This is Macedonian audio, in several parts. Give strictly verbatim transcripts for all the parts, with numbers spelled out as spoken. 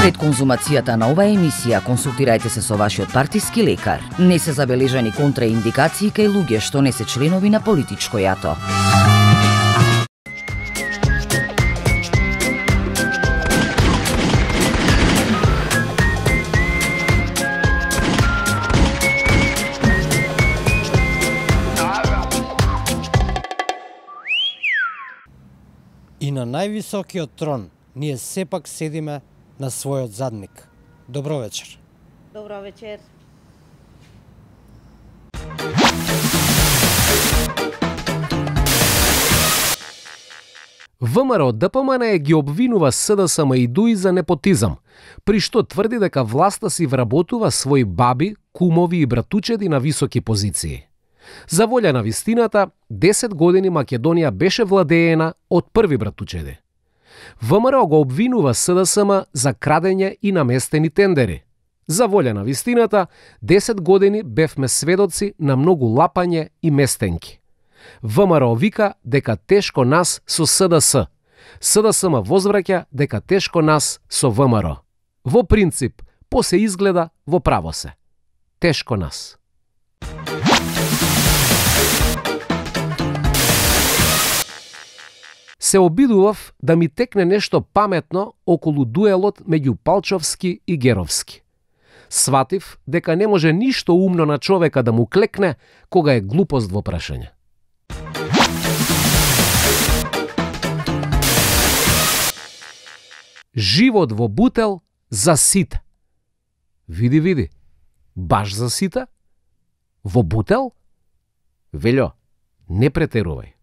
Пред конзумацијата на оваа емисија консултирајте се со вашиот партиски лекар. Не се забележани контраиндикации кај луѓе што не се членови на политичко јато. И на највисокиот трон ние сепак седиме на својот задник. Добро вечер. Добро вечер. ВМРО Д П М Н ги обвинува С Д С М и ДУИ за непотизам, при што тврди дека власта си вработува своји баби, кумови и братучеди на високи позиции. За волја на вистината, десет години Македонија беше владеена од први братучеди. ВМРО го обвинува С Д С М за крадење и наместени тендери. За волја на вистината, десет години бевме сведоци на многу лапање и местенки. ВМРО вика дека тешко нас со С Д С. С Д С М возвраќа дека тешко нас со В М Р. Во принцип, по се изгледа, во право се. Тешко нас. Се обидував да ми текне нешто паметно околу дуелот меѓу Палчовски и Геровски. Сватив дека не може ништо умно на човека да му клекне кога е глупост во прашање. Живот во бутел за сите. Види, види, баш за сите? Во бутел? Велјо, не претерувај.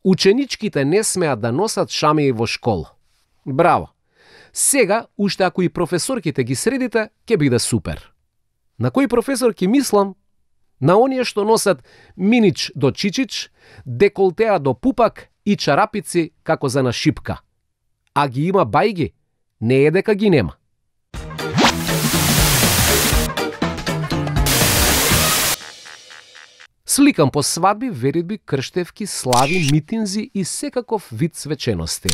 Ученичките не смеат да носат шамии во школа. Браво! Сега, уште ако и професорките ги средите, ќе биде супер. На кој професор ќе мислам? На оние што носат минич до чичич, деколтеа до пупак и чарапици како за на шипка. А ги има бајги, не е дека ги нема. Сликам по свадби, веридби, крштевки, слави, митинзи и секаков вид свечености.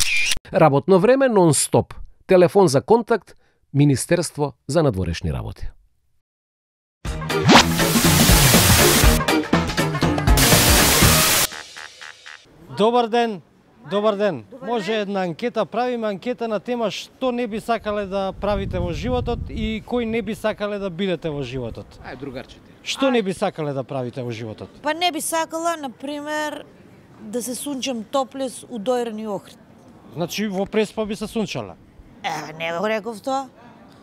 Работно време нон-стоп. Телефон за контакт, Министерство за надворешни работи. Добар ден. Добар ден. Може една анкета, правиме анкета на тема што не би сакале да правите во животот и кој не би сакале да бидете во животот. Ај, другарче. Што не би сакале да правите во животот? Па не би сакала, например, да се сунчам топлес у Дојран и Охрид. Значи во Преспа би се сунчала? Е, не го реков тоа.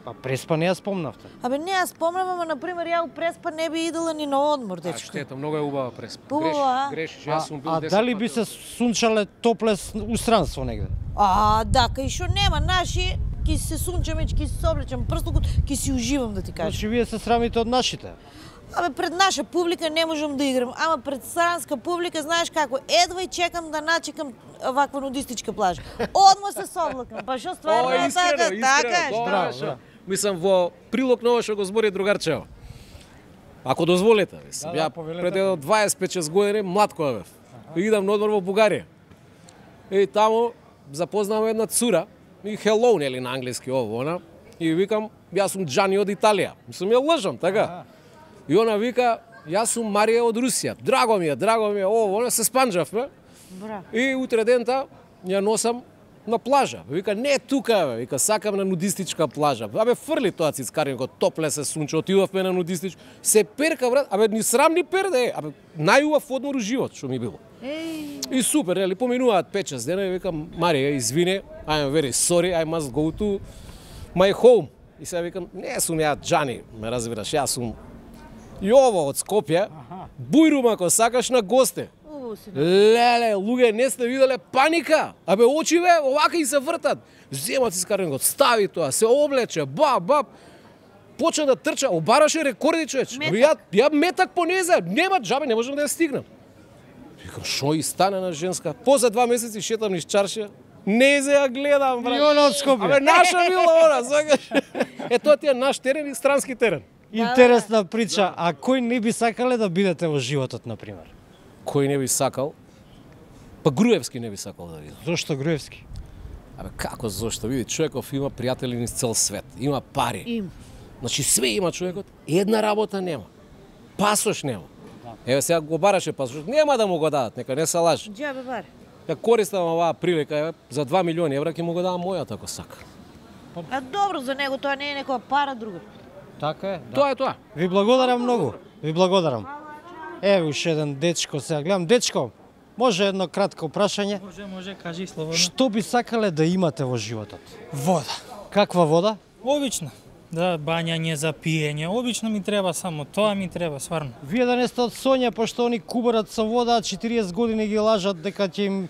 Па Преспа не ја спомнавте. Абе не ја спомнам, ама например ја у Преспа не би идела ни на одмор, А, дечко. штета, многу е убава Преспа. Убава, а? Грешиш, А, јас сум бил а десет дали пати би се сунчале топлес у странство негде? А, да, кај шо нема наши, ки се сунчам и ки се облечам прстокот, ки си уживам да ти кажам. Значи вие се срамите од нашите. Абе пред наша публика не можам да играм, ама пред странска публика знаеш како, едва и чекам да начекам ваква нудистичка плажа. Одма се соблакам, па шо стварно О, е искрено, така, така е. искрено. Браво, Браво, браво. Мислам, во прилог на ова што го збори другарчево. Ако дозволите, мислам, Да, да, ја повелете. пред едно дваесет и пет години млад која бев. Идам на одмор во Бугарија. И таму запознавам една цура, и hello, нели на англиски ово, она, и викам, јас сум Џани од Италија. Мислам, ја лажам, така. И она вика, јас сум Марија од Русија. Драго ми е, драго ми е, ово, она се спанџавме. Браво. И утре дента ја носам на плажа. Вика, не тука, бе. Вика, сакам на нудистичка плажа. Абе, фрли тоа цицкаринко, топле се сунче, отидовме на нудистич. Се перка, брат, абе, ни срам ни перде, абе, најубав одмор у живот, што ми било. Еј, И супер, нели, поминуваат пет шест дена и викам, Марија, извини, I'm very sorry, I must go to my home. И сега викам, не сум ја Џани, ме разбираш, јас сум Јово од Скопје, бујрум ако сакаш на госте. убаво си. Леле, луѓе, не сте виделе паника. Абе, очиве, овака и се вртат. Земат си скаренкот, стави тоа, се облече, баб, баб. Почна да трча, обараше рекорди, човеч. Абе, ја, ја метак по незе, нема џабе, не можам да ја стигнам. Викам, шо и стане на женска? После два месеци шетам низ чаршија, незе ја гледам, брат. И она од Скопје. Абе, наша била она, сакаш. Е, тоа ти е наш терен и странски терен. Интересна прича, а кој не би сакале да бидете во животот, например? Кој не би сакал? Па Груевски не би сакал да видам. Зошто Груевски? Абе како зошто? Види, човеков има пријатели низ цел свет, има пари. Им. Значи све има човекот, една работа нема. Пасош нема. Еве сега го бараше пасош, нема да му го дадат, нека не се лажи. Џабе бар. Ја користам оваа прилика, еве, за два милиони евра ќе му го дадам мојата ако сака. А добро за него, тоа не е некоја пара друга. Така е, да. Тоа е тоа. Ви благодарам многу. Ви благодарам. Еве уште еден дечко сега. Гледам, дечко, може едно кратко прашање? Може, може, кажи слободно. Што би сакале да имате во животот? Вода. Каква вода? Обично. Да, бањање за пиење. Обично ми треба само тоа ми треба, сварно. Вие да не сте од Сонја, пошто они кубарат со вода, а четириесет години ги лажат дека ќе им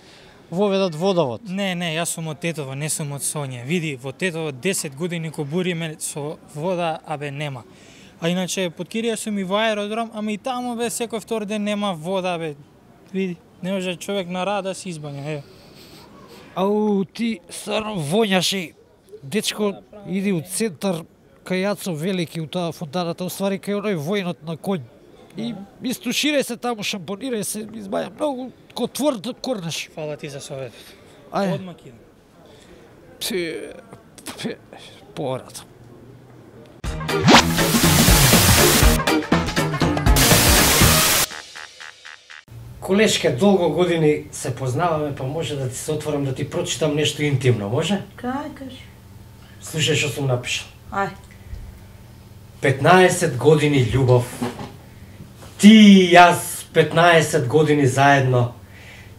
воведат водовод. Не, не, јас сум од Тетово, не сум од Сонја. Види, во Тетово десет години кобуриме со вода, абе нема. А иначе под Кирија сум и во аеродром, ама и таму бе секој втор ден нема вода, бе. Види, не може човек на рада да се избања, е. Ау, ти стварно воњаше. Дечко, иди у центар кај Јацо Велики у таа фонтаната, уствари кај оној војнот на конј. И истуширај се таму, шампонирај се, избаја многу ко тврд корнеш. Фала ти за советот. Ајде. Одмак идам. Пе, пе, порато. Колешке, долго години се познаваме, па може да ти се отворам да ти прочитам нешто интимно, може? Кај, кажи. Слушај што сум напишал. Ај. петнаесет години љубов. Ти и јас петнаесет години заедно.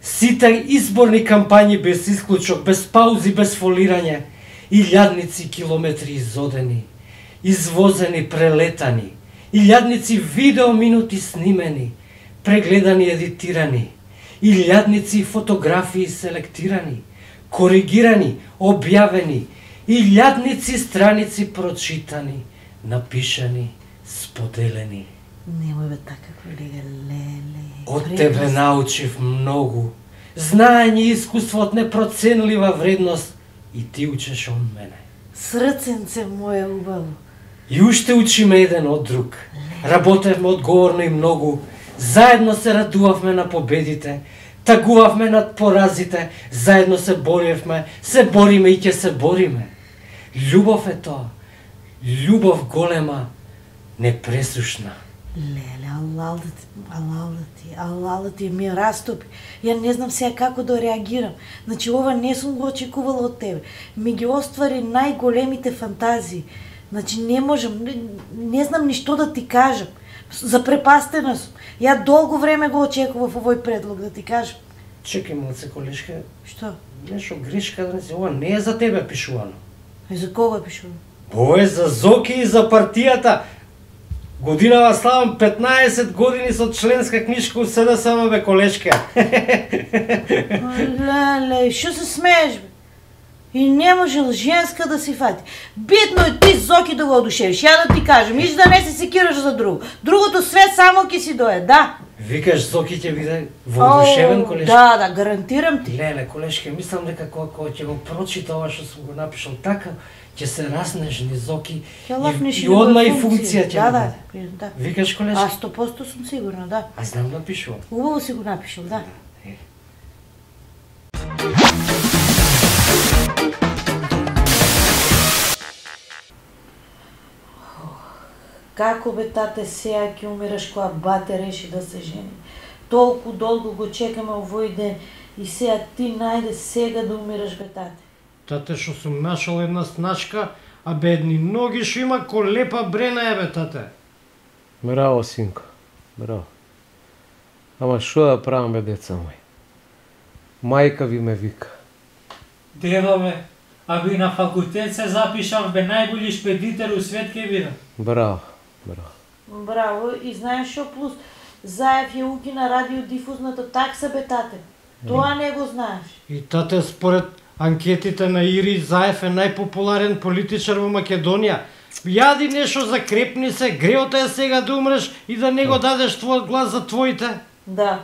Сите изборни кампањи без исклучок, без паузи, без фолирање. Илјадници километри изодени, извозени, прелетани. Илјадници видеоминути снимени, прегледани, едитирани. Илјадници фотографии селектирани, коригирани, објавени. Илјадници страници прочитани, напишани, споделени. Немој бе така, колега, леле. Од тебе научив многу. Знаење и искуство од непроценлива вредност и ти учеш од мене. Срценце моје убаво. И уште учиме еден од друг. Работевме одговорно и многу. Заедно се радувавме на победите, тагувавме над поразите, заедно се боривме, се бориме и ќе се бориме. Љубов е тоа. Љубов голема, непресушна. Леле, алал да ти, алал да ти, алал да ти ми растопи. Ја не знам сега како да реагирам. Значи ова не сум го очекувала од тебе. Ми ги оствари најголемите фантазии. Значи не можам, не, не знам ни што да ти кажам. Запрепастена сум. Ја долго време го очекував овој предлог да ти кажам. Чекај малце, колешка, Што? нешто грешка да не се, ова не е за тебе пишувано. И за кого пишувам? Ова е за Зоки и за партијата. Годинава славам петнаесет години со членска книжка у СДСМ, бе, колешка. Леле, што се смееш, бе? И не можел женска да си фати. Битно е ти Зоки да го одушевиш. Ја да ти кажам, иш да не се секираш за друго. Другото све само ќе си дое, да. Викаш Зоки ќе биде воодушевен, Ау, колешка? Да, да, гарантирам ти. Леле, колешка, мислам дека кога кога ќе го прочита ова што сум го напишал така, ќе се разнежни Зоки Ќе лапнеш и, и неговата одма и функција ќе Да, да, да, да. Викаш А колешка? сто проценти сум сигурна, да. А знам да пишувам. Убаво си го напишал, да. Е. Како бе, тате, сега ќе умираш кога бате реши да се жени. Толку долго го чекаме овој ден и сега ти најде сега да умираш, бе, тате. Тате, што сум нашол една сначка, а бедни ноги што има колепа брена е, бе, тате. Браво, синко. Браво. Ама што да правам, бе, деца мој? Мајка ви ме вика. Дева, бе, а би на факултет се запишав, бе, најболи шпедитер у свет ке бидам. Браво, браво. Браво, и знаеш што плюс? Заев ја укина радиодифузната такса, бе, тате. Тоа не го знаеш. И тате, според анкетите на Ири, Заев е најпопуларен политичар во Македонија. Јади нешто, закрепни се, греото е сега да умреш и да не го дадеш твојот глас за твоите. Да.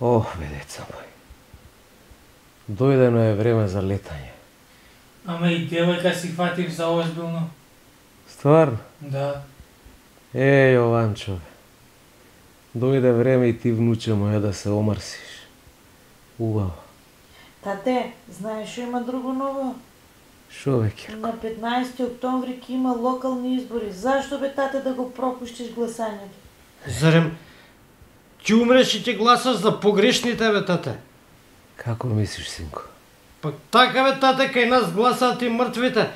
Ох, бе, деца мој. Дојдено е време за летање. Ама и девојка си фатив за озбилно. Стварно? Да. Е, Јованчо, бе. Дојде време и ти, внуче моја, да се омрсиш. Убаво. Тате, знаеш што има друго ново? Шо бе, Кирко? На петнаесети октомври ќе има локални избори. Зашто бе, тате, да го пропуштиш гласањето? Зарем, ќе умреш и ќе гласаш за погрешните, бе, тате? Како мислиш, синко? Пак така, бе, тате, кај нас гласаат и мртвите.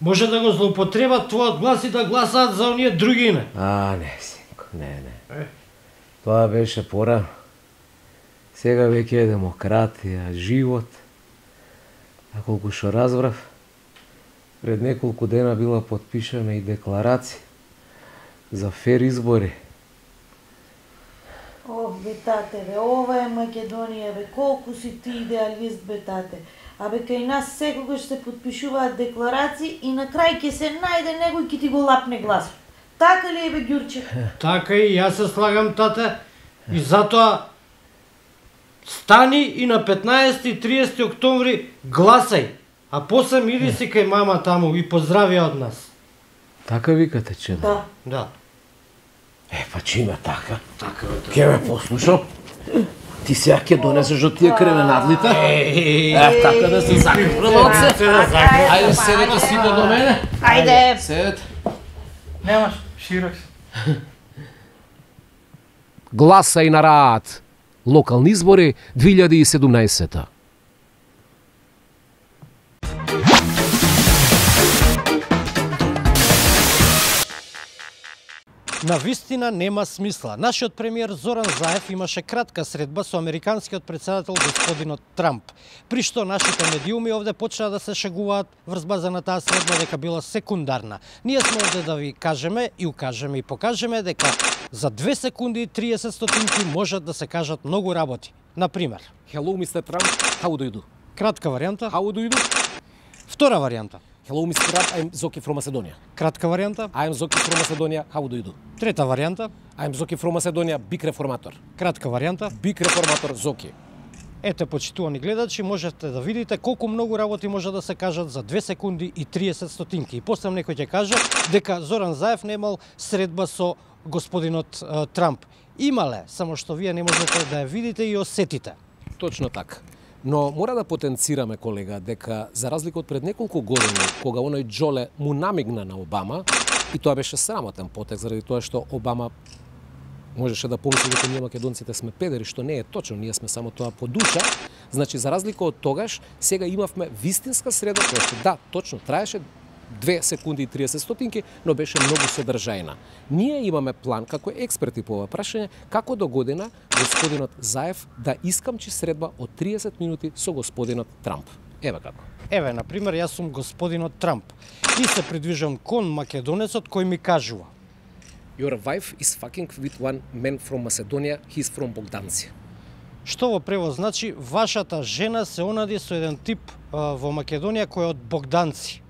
Може да го злоупотребат твојот глас и да гласаат за оние другине. А, не, синко, не, не. Тоа беше порано. Сега веќе е демократија, живот. А колку што разбрав, пред неколку дена била потпишана и декларација за фер избори. Ох, бе, тате, бе, ова е Македонија, бе, колку си ти идеалист, бе, тате. Абе, кај нас секогаш се потпишуваат декларации и на крај ќе се најде некој ќе ти го лапне глас. Така ли е, бе, Ѓурче? Така и јас се слагам, тате. И затоа стани и на петнаесети и триесети октомври гласај. А после мири си кај мама таму и поздравија од нас. Така викате, че да? Да. Да. Е, па чиме така? Така бе, тате. Ке ме послушам. Ти сега ќе донесеш од тие кременадлите? Е, така да се закрила од се. Ајде, седете сите до мене. Ајде. Седете. Немаш, широк се. Гласај на Раат. Локални избори две илјади и седумнаесета. На вистина нема смисла. Нашиот премиер Зоран Заев имаше кратка средба со американскиот председател господинот Трамп, при што нашите медиуми овде почнаа да се шегуваат врз база на таа средба дека била секундарна. Ние сме овде да ви кажеме и укажеме и покажеме дека за две секунди и триесет стотинки можат да се кажат многу работи. Например, Hello, мистер Trump. How do you do? кратка варијанта. How do you do? Втора варијанта. Hello, мистер Trump. I'm Zoki from Macedonia. Кратка варијанта. I'm Zoki from Macedonia. How do you do? Трета варијанта. I'm Zoki from Macedonia. Big reformator. Кратка варијанта. Big reformator Zoki. Ете, почитувани гледачи, можете да видите колку многу работи може да се кажат за две секунди и триесет стотинки. И после некој ќе каже дека Зоран Заев немал средба со господинот е, Трамп. Имале, само што вие не можете да ја видите и осетите. Точно така. Но мора да потенцираме, колега, дека за разлика од пред неколку години, кога оној Џоле му намигна на Обама, и тоа беше срамотен потек заради тоа што Обама можеше да помисли дека ние македонците сме педери, што не е точно, ние сме само тоа по душа. Значи, за разлика од тогаш, сега имавме вистинска среда која што, да, точно, траеше две секунди и триесет стотинки, но беше многу содржајна. Ние имаме план, како експерти по ова прашање, како до година господинот Заев да искамчи средба од триесет минути со господинот Трамп. Еве како. Еве, например, јас сум господинот Трамп и се придвижам кон македонецот кој ми кажува: Your wife is fucking with one man from Macedonia, he's from Bogdanci. Што во превод значи вашата жена се онади со еден тип а, во Македонија кој е од Богданци.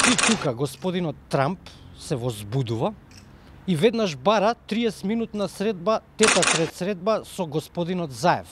И тука господинот Трамп се возбудува и веднаш бара триесет минутна средба, тета трет средба со господинот Заев.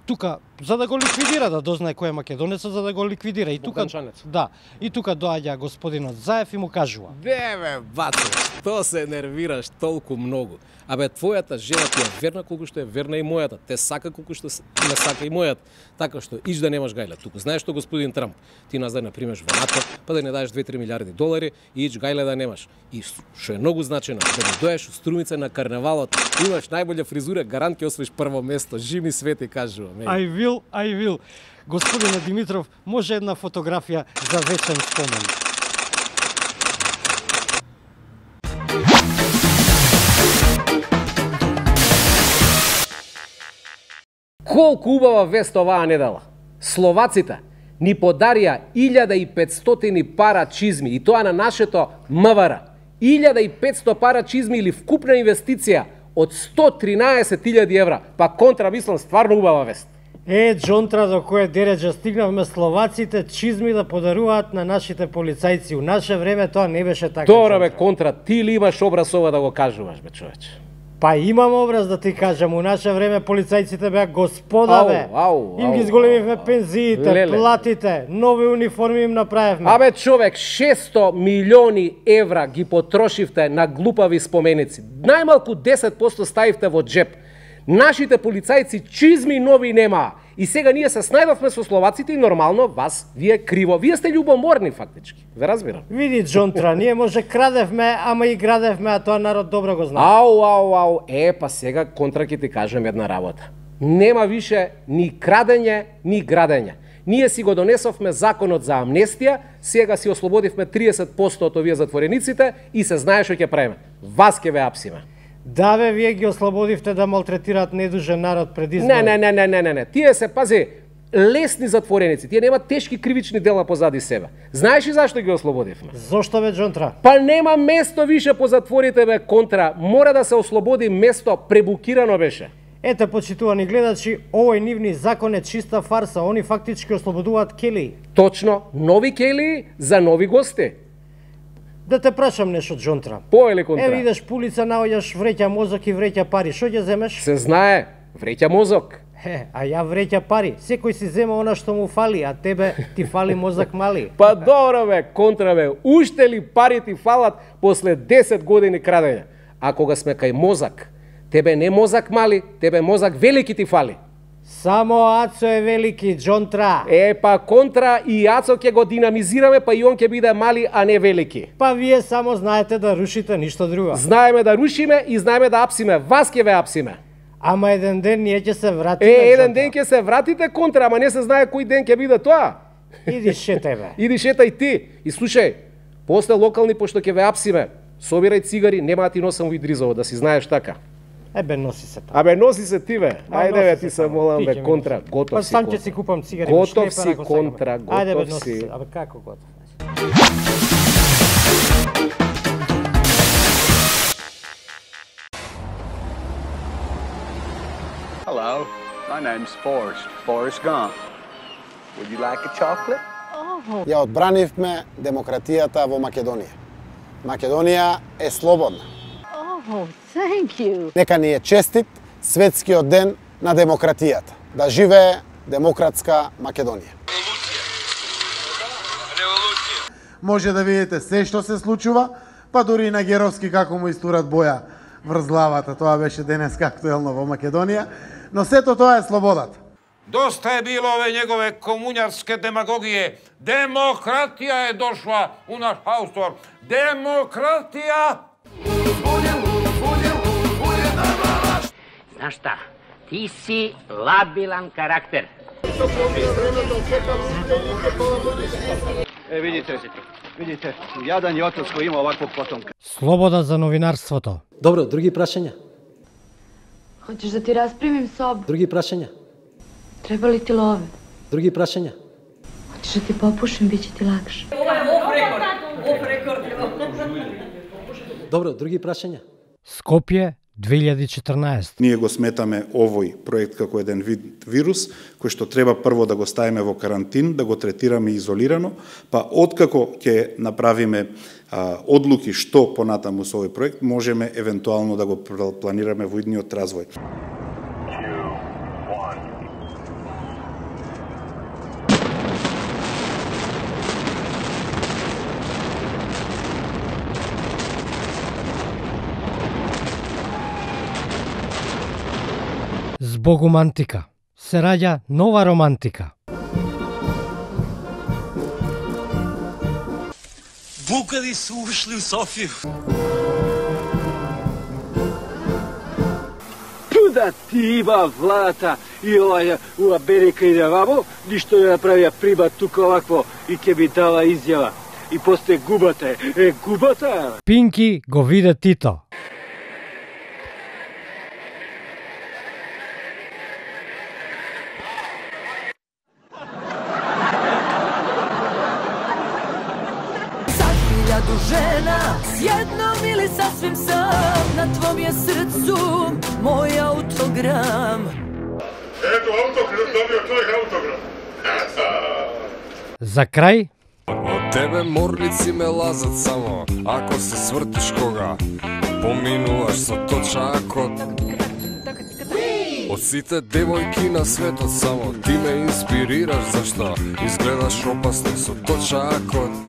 Тука за да го ликвидира, да дознае кој е македонецот, за да го ликвидира. И тука Богданчанец. да, и тука доаѓа господинот Заев и му кажува: Деве, бате, што се нервираш толку многу? Абе, твојата жена ти е верна колку што е верна и мојата. Те сака колку што не сака и мојата. Така што иш да немаш гајле туку. Знаеш што, господин Трамп, ти нас да не примеш во НАТО, па да не даеш две-три милиарди долари и иш гајле да немаш. И што е многу значено, да не доеш у Струмица на карневалот, имаш најболја фризура, гарант ќе освоиш прво место. Жими Свети кажувам. I will, I will. Господине Димитров, може една фотографија за вечен спомен. Колку убава вест оваа недела. Словаците ни подарија илјада и петстотини пара чизми и тоа на нашето МВР. илјада и петсто пара чизми или вкупна инвестиција од сто тринаесет илјади евра. Па контра, мислам, стварно убава вест. Е, Джонтра, до кој дереджа стигнавме словаците чизми да подаруваат на нашите полицајци. У наше време тоа не беше така. Добро бе, контра, ти ли имаш образ ова да го кажуваш, бе, човече? Па имам образ да ти кажам, у наше време полицајците беа господа, бе. Ау, ау, Им ги ау, зголемивме ау. пензиите, Леле. платите, нови униформи им направивме. Абе, човек, шесто милиони евра ги потрошивте на глупави споменици. Најмалку десет проценти ставивте во джеп. Нашите полицајци чизми нови нема. И сега ние се снајдовме со словаците и нормално вас ви е криво. Вие сте љубоморни фактички. Ве разбирам. Види, Джонтра, ние може крадевме, ама и градевме, а тоа народ добро го знае. Ау, ау, ау. Е, па сега контра ќе ти кажем една работа. Нема више ни крадење, ни градење. Ние си го донесовме законот за амнестија, сега си ослободивме триесет проценти од овие затворениците и се знае што ќе правиме. Вас ќе ве апсиме. Да бе, вие ги ослободивте да малтретираат недужен народ пред избори. Не, не, не, не, не, не, не. Тие се, пази, лесни затвореници. Тие немаат тешки кривични дела позади себе. Знаеш ли зашто ги ослободивме? Зошто бе, Джонтра? Па нема место више по затворите, бе, контра. Мора да се ослободи место, пребукирано беше. Ете, почитувани гледачи, овој нивни закон е чиста фарса. Они фактички ослободуваат келии. Точно, нови келии за нови гости. Да те прашам нешто, Джонтра. Поели контра. Е, видиш, пулица наоѓаш вреќа мозок и вреќа пари. Што ќе земеш? Се знае, вреќа мозок. Е, а ја вреќа пари. Секој си зема она што му фали, а тебе ти фали мозок мали. Па добро бе, контра бе, уште ли пари ти фалат после десет години крадење? А кога сме кај мозок, тебе не мозок мали, тебе мозок велики ти фали. Само Ацо е велики, Джонтра. Е, па контра и Ацо ќе го динамизираме, па и он ќе биде мали, а не велики. Па вие само знаете да рушите, ништо друго. Знаеме да рушиме и знаеме да апсиме. Вас ќе ве апсиме. Ама еден ден ние ќе се вратиме. Е, еден ден ќе се вратите, контра, ама не се знае кој ден ќе биде тоа. Иди шетај бе. Иди шетај ти. И слушај, после локални, пошто ќе ве апсиме, собирај цигари, нема да ти носам во Идризово, да си знаеш така. Ебе, носи се тоа. Абе, носи се ти бе. Ма, Ајде носи бе, се ти се само. молам Ти бе, ќе ми контра, носиш. готов Па си. сам ќе контра. си купам цигари. Готов шлепер, си, ако сакам. контра, Ајде бе, готов носи си. се. Абе, како готов? Hello, my name's Forrest, Forrest Gump. Would you like a chocolate? Ја одбранивме демократијата во Македонија. Македонија е слободна. Oh, thank you. Нека ни е честит светскиот ден на демократијата. Да живее демократска Македонија. Може да видите се што се случува, па дури и на Геровски како му истурат боја врз главата. Тоа беше денеска актуелно во Македонија, но сето тоа е слободата. Доста е било ове негове комуњарске демагогije. Демократија е дошла у наш хаустор. Демократија! Знаš šta, ti si labilan karakter. Е, видите, видите, јадан и отец кој има оваквog потомка. Слобода за новинарството. Добро, други прашања? Hoćeš da ti rasprimim sobu? Други прашања? Treba li ti love? Други прашања? Hoćeš da ti popušim, bit će ti lakše. Добро, други прашања? Скопје две илјади и четрнаесет. Ние го сметаме овој проект како еден вид вирус, кој што треба прво да го ставиме во карантин, да го третираме изолирано, па откако ќе направиме а, одлуки што понатаму со овој проект, можеме евентуално да го планираме во идниот развој. Збогум антика се раѓа нова романтика. Букади су ушли у Софiju. Туда ти има владата и оваја у Америка иде вамо, ништо не направија прима тука овакво и ќе ми дава изјава. И после губата е, губата. Пинки го виде Тито. Žena, s jednom ili sasvim sam, na tvom je srcu moj autogram. Ето autogram, dobio tvoj autogram. За крај, Од тебе морлици ме лазат само, ако се свртиш кога поминуваш со точакот. Од сите девојки на светот само ти ме инспирираш, зашто изгледаш опасно со точакот.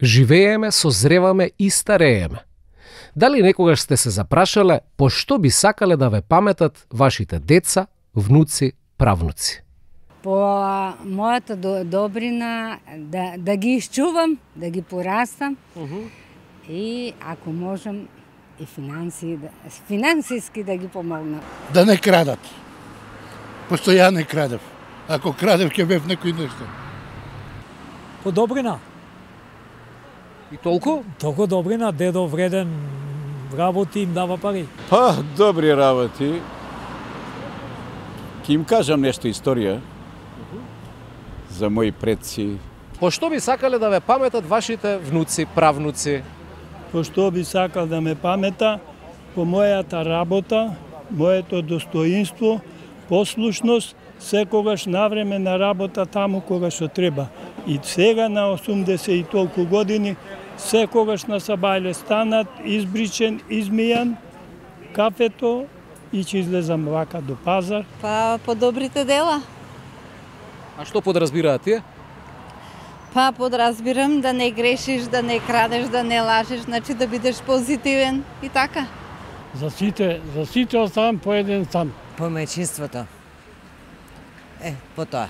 Живееме, созреваме и старееме. Дали некогаш сте се запрашале по што би сакале да ве паметат вашите деца, внуци, правнуци? По мојата до, добрина да, да ги изчувам, да ги порастам uh -huh. и ако можам и финанси, да, финансиски да ги помогнам. Да не крадат. Пошто ја не крадев. Ако крадев, ќе бев некој нешто. По добрина. И толку? Толку добрина, дедо вреден, работи, им дава пари. Па, добри работи. Ке им кажам нешто историја за мои предци. По што би сакале да ве паметат вашите внуци, правнуци? По што би сакал да ме памета? По мојата работа, моето достоинство, послушност, секогаш навреме на работа таму кога што треба. И сега на осумдесет и толку години, секогаш на сабајле станат, избричен, измијан, кафето и ќе излезам вака до пазар. Па по добрите дела. А што подразбираат тие? Па подразбирам да не грешиш, да не крадеш, да не лажеш, значи да бидеш позитивен и така. За сите, за сите оставам по еден сам. По мајчинството. Е, по тоа.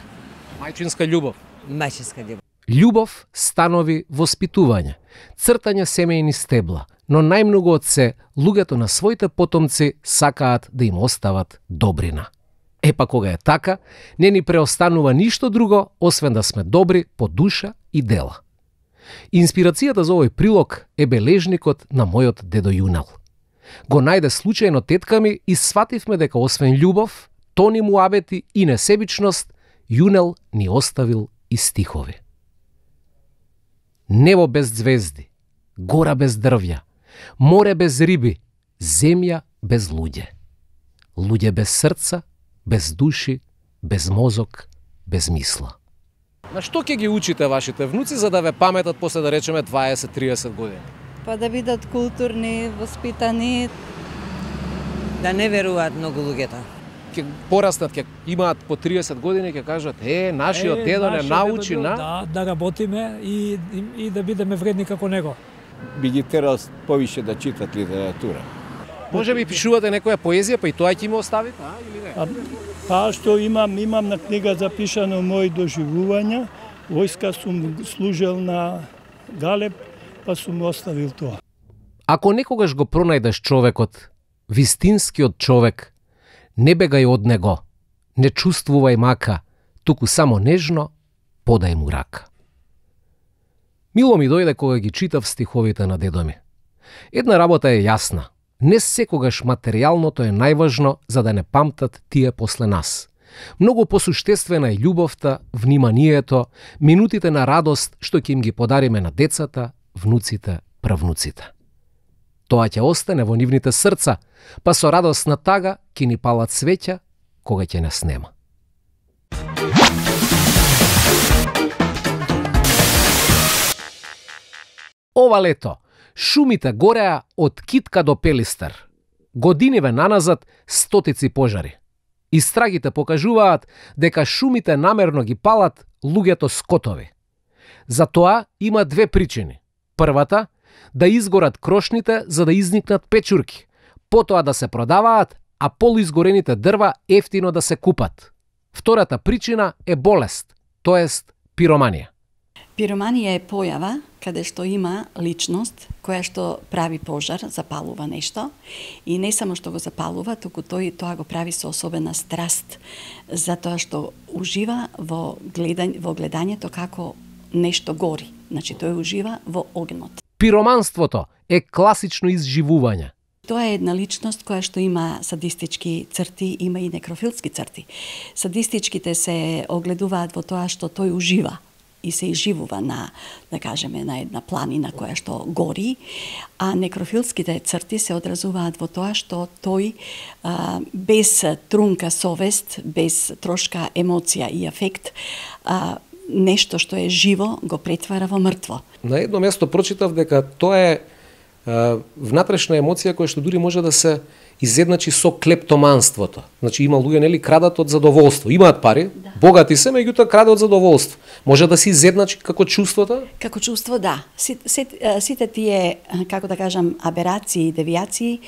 Мајчинска љубов. Мајчинска љубов. Љубов, станови, воспитување, цртање семејни стебла, но најмногу од се, луѓето на своите потомци сакаат да им остават добрина. Е па кога е така, не ни преостанува ништо друго, освен да сме добри по душа и дела. Инспирацијата за овој прилог е бележникот на мојот дедо Јунел. Го најде случајно тетка ми и свативме дека освен љубов, тони муабети и несебичност, Јунел ни оставил и стихови. Небо без звезди, гора без дрвја, море без риби, земја без луѓе. Луѓе без срца, без души, без мозок, без мисла. На што ќе ги учите вашите внуци за да ве паметат после да речеме дваесет до триесет години? Па да бидат културни, воспитани. Да не веруваат многу луѓето. Ќе порастат, ќе имаат по триесет години, ќе кажат, е, нашиот дедо не научи на... Да, да работиме и, и, и да бидеме вредни како него. Би ги терал повише да читат литература. Може би пишувате некоја поезија, па и тоа ќе им оставите, а, или не? А, па што имам, имам на книга запишано мои доживувања, војска сум служел на Галеб, па сум оставил тоа. Ако некогаш го пронајдеш човекот, вистинскиот човек, не бегај од него, не чувствувај мака, туку само нежно подај му рака. Мило ми дојде кога ги читав стиховите на дедо ми. Една работа е јасна. Не секогаш материјалното е најважно за да не памтат тие после нас. Многу посуштествена е љубовта, вниманието, минутите на радост што ќе им ги подариме на децата, внуците, правнуците. Тоа ќе остане во нивните срца, па со радосна тага ќе ни палат свеќа кога ќе не снема. Ова лето шумите гореа од Китка до Пелистер. Годиниве наназад стотици пожари. Истрагите покажуваат дека шумите намерно ги палат луѓето скотови. За тоа има две причини. Првата, да изгорат крошните за да изникнат печурки, потоа да се продаваат, а полуизгорените дрва ефтино да се купат. Втората причина е болест, тоест пироманија. Пироманија е појава каде што има личност која што прави пожар, запалува нешто и не само што го запалува, туку тој тоа го прави со особена страст, затоа што ужива во гледање, во гледањето како нешто гори. Значи тој ужива во огнот. Пироманството е класично изживување. Тоа е една личност која што има садистички црти, има и некрофилски црти. Садистичките се огледуваат во тоа што тој ужива и се изживува на, да кажеме, на една планина која што гори, а некрофилските црти се одразуваат во тоа што тој а, без трунка совест, без трошка емоција и афект, а, нешто што е живо го претвара во мртво. На едно место прочитав дека тоа е внатрешна емоција која што дури може да се изедначи со клептоманството. Значи има луѓе нели крадат од задоволство, имаат пари, да. Богати се, меѓутоа крадат од задоволство. Може да се изедначи како чувството? Како чувство, да. Сите, сите, сите тие, како да кажам, аберации, девијации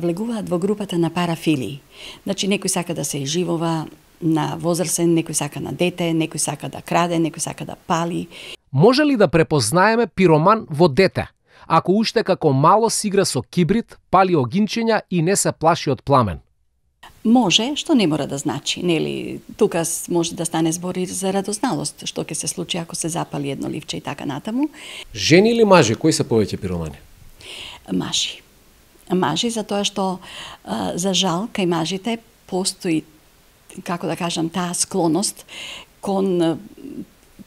влегуваат во групата на парафилии. Значи некој сака да се изживува на возрасен, некој сака на дете, некој сака да краде, некој сака да пали. Може ли да препознаеме пироман во дете? Ако уште како мало си игра со кибрид, пали огинчиња и не се плаши од пламен? Може, што не мора да значи. Нели, тука може да стане збор и за радозналост, што ќе се случи ако се запали едно ливче и така натаму. Жени или мажи, кои се повеќе пиромани? Мажи. Мажи, затоа што, за жал, кај мажите постои, како да кажам, таа склоност кон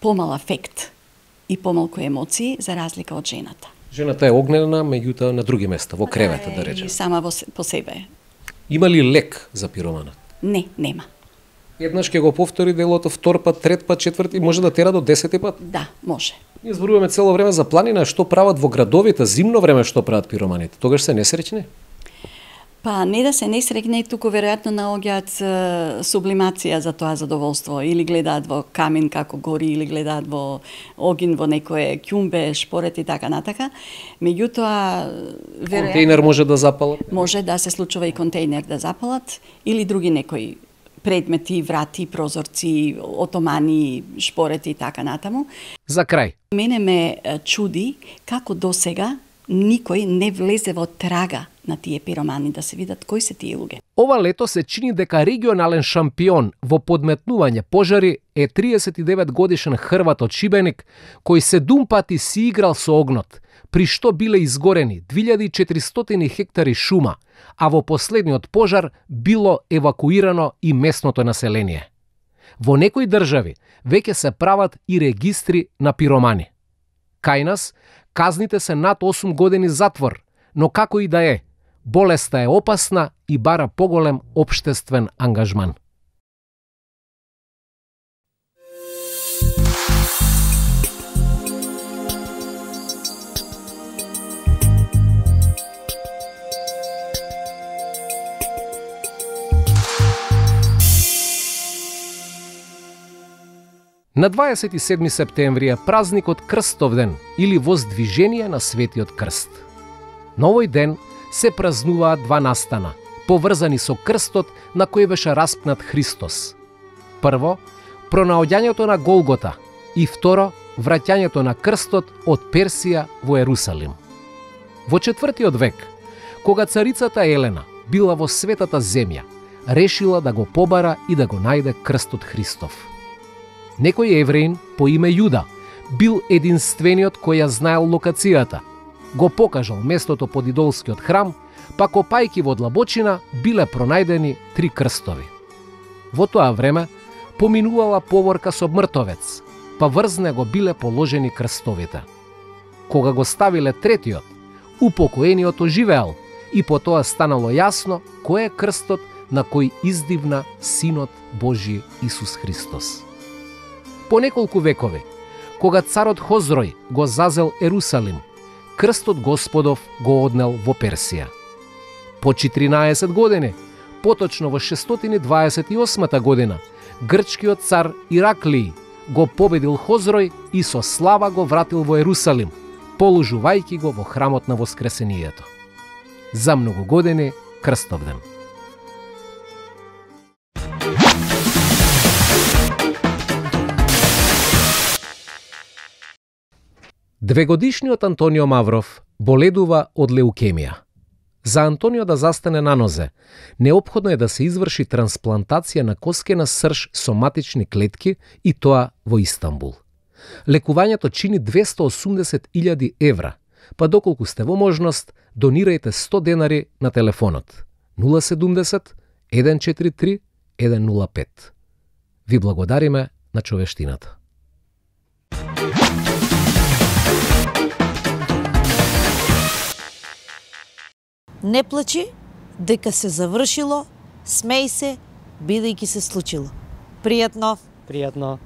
помал афект и помалку емоции, за разлика од жената. Жената е огнена, меѓутоа на други места, во кревета, да речем. И сама во, по себе. Има ли лек за пироманот? Не, нема. Еднаш ќе го повтори делото, втор пат, трет пат, четврти, може да тера до десети пат? Да, може. Ние зборуваме цело време за планина, што прават во градовите, зимно време што прават пироманите. Тогаш се несреќни? Па не да се несрекне, туку веројатно наоѓаат сублимација за тоа задоволство. Или гледаат во камин како гори, или гледаат во огин, во некое ќумбе, шпорет и така натака. Меѓутоа, веројатно... Контейнер може да запалат? Може да се случува и контейнер да запалат, или други некои предмети, врати, прозорци, отомани, шпорети и така натаму. За крај. Мене ме чуди како досега никој не влезе во трага на тие пиромани, да се видат кои се тие луѓе. Ова лето се чини дека регионален шампион во подметнување пожари е триесет и девет годишен Хрват од Шибеник, кој седум пати си играл со огнот, при што биле изгорени две илјади и четиристотини хектари шума, а во последниот пожар било евакуирано и местното население. Во некои држави веќе се прават и регистри на пиромани. Кај нас казните се над осум години затвор, но како и да е, болеста е опасна и бара поголем општествен ангажман. На дваесет и седми септември е празникот Крстовден или Воздвижение на Светиот Крст. На овој ден се празнуваат два настана, поврзани со крстот на кој беше распнат Христос. Прво, пронаоѓањето на Голгота и второ, враќањето на крстот од Персија во Ерусалим. Во четвртиот век, кога царицата Елена била во светата земја, решила да го побара и да го најде крстот Христов. Некој евреин по име Јуда бил единствениот кој ја знаел локацијата. Го покажал местото под идолскиот храм, па копајки во длабочина биле пронајдени три крстови. Во тоа време поминувала поворка со мртовец, па врз него биле положени крстовите. Кога го ставиле третиот, упокоениот оживеал и по тоа станало јасно кој е крстот на кој издивна Синот Божи Исус Христос. По неколку векови, кога царот Хозрој го зазел Ерусалим, крстот Господов го однел во Персија. По четиринаесет години, поточно во шестстотини дваесет и осма година, грчкиот цар Ираклиј го победил Хозрој и со слава го вратил во Ерусалим, положувајќи го во храмот на Воскресението. За многу години Крстовден. Двегодишниот Антонио Мавров боледува од леукемија. За Антонио да застане на нозе, неопходно е да се изврши трансплантација на коскена срж со матични клетки и тоа во Истанбул. Лекувањето чини двесте и осумдесет илјади евра, па доколку сте во можност, донирајте сто денари на телефонот нула седумдесет еден четири три еден нула пет. Ви благодариме на човештината. Не плачи, дека се завршило, смеј се, бидејќи се случило. Пријатно. Пријатно.